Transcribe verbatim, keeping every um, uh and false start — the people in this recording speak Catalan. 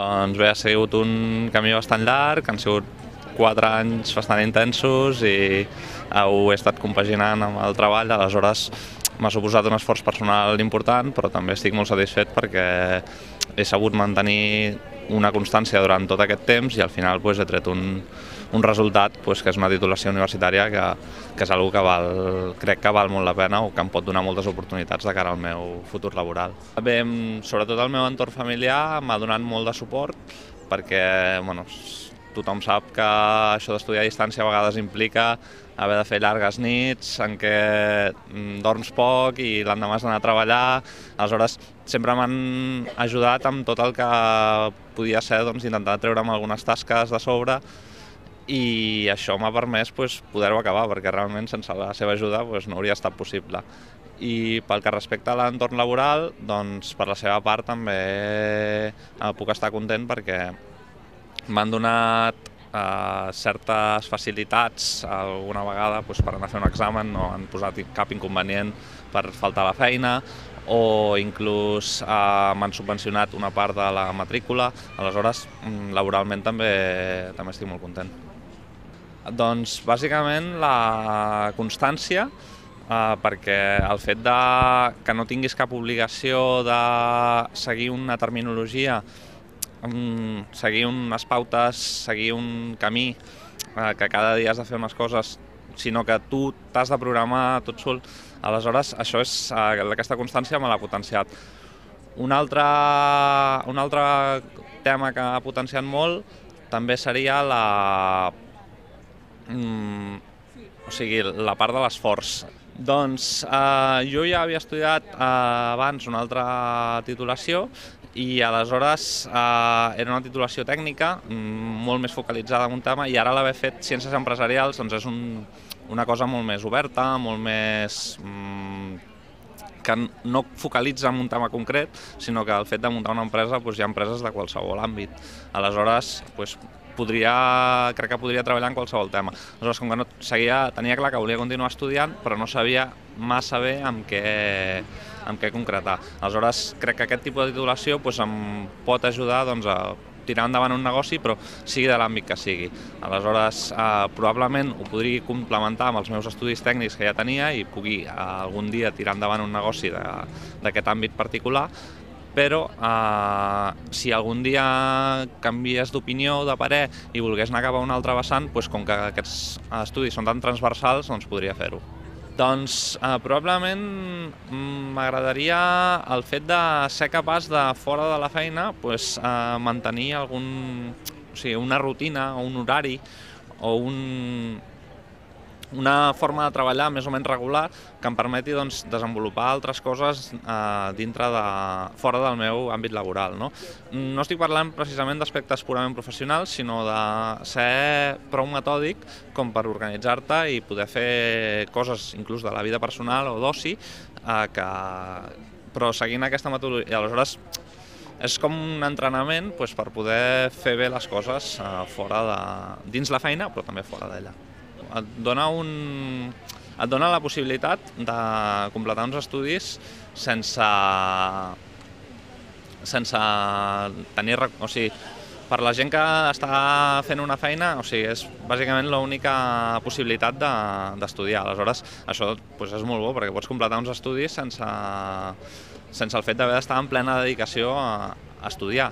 Doncs bé, ha sigut un camí bastant llarg, han sigut quatre anys bastant intensos i ho he estat compaginant amb el treball, aleshores m'ha suposat un esforç personal important, però també estic molt satisfet perquè he sabut mantenir una constància durant tot aquest temps i al final pues, he tret un, un resultat pues, que és una titulació universitària que, que és una que val, crec que val molt la pena o que em pot donar moltes oportunitats de cara al meu futur laboral. Bé, sobretot el meu entorn familiar m'ha donat molt de suport perquè bueno, tothom sap que això d'estudiar a distància a vegades implica haver de fer llargues nits en què dorms poc i l'endemà has d'anar a treballar. Aleshores, sempre m'han ajudat amb tot el que podia ser doncs, intentar treure'm algunes tasques de sobre i això m'ha permès pues, poder-ho acabar, perquè realment sense la seva ajuda pues, no hauria estat possible. I pel que respecta a l'entorn laboral, doncs, per la seva part també puc estar content perquè m'han donat Uh, certes facilitats alguna vegada pues, per anar a fer un examen, no han posat cap inconvenient per faltar a la feina o inclús uh, m'han subvencionat una part de la matrícula, aleshores laboralment també, també estic molt content. Doncs bàsicament la constància, uh, perquè el fet de que no tinguis cap obligació de seguir una terminologia, seguir unes pautes, seguir un camí, eh, que cada dia has de fer unes coses, sinó que tu t'has de programar tot sol. Aleshores, això és, eh, aquesta constància me l'ha potenciat. Un altre, un altre tema que ha potenciat molt també seria la, mm, o sigui, la part de l'esforç. Doncs eh, jo ja havia estudiat eh, abans una altra titulació i aleshores eh, era una titulació tècnica molt més focalitzada en un tema i ara l'haver fet ciències empresarials doncs és un, una cosa molt més oberta, molt més mm, que no focalitza en un tema concret, sinó que el fet de muntar una empresa doncs, hi ha empreses de qualsevol àmbit. Aleshores, doncs, podria, crec que podria treballar en qualsevol tema. Aleshores, com que no seguia, tenia clar que volia continuar estudiant, però no sabia massa bé amb què, amb què concretar. Aleshores, crec que aquest tipus de titulació doncs, em pot ajudar doncs, a tirar endavant un negoci, però sigui de l'àmbit que sigui. Aleshores, eh, probablement ho podria complementar amb els meus estudis tècnics que ja tenia i pugui eh, algun dia tirar endavant un negoci d'aquest àmbit particular, però eh, si algun dia canvies d'opinió o de parer i volgués anar cap a un altre vessant, doncs, com que aquests estudis són tan transversals, doncs podria fer-ho. Doncs eh, probablement m'agradaria el fet de ser capaç de, fora de la feina, pues, eh, mantenir algun, o sigui, una rutina o un horari o un, una forma de treballar més o menys regular que em permeti doncs, desenvolupar altres coses eh, dintre de, fora del meu àmbit laboral. No, no estic parlant precisament d'aspectes purament professionals, sinó de ser prou metòdic com per organitzar-te i poder fer coses inclús de la vida personal o d'oci, eh, que... però seguint aquesta metodologia. Aleshores, és com un entrenament doncs, per poder fer bé les coses eh, fora de, dins la feina, però també fora d'ella. Et dona, un, et dona la possibilitat de completar uns estudis sense, sense tenir... O sigui, per la gent que està fent una feina, o sigui, és bàsicament l'única possibilitat d'estudiar. De, Aleshores, això doncs, és molt bo perquè pots completar uns estudis sense, sense el fet d'haver d'estar en plena dedicació a, a estudiar.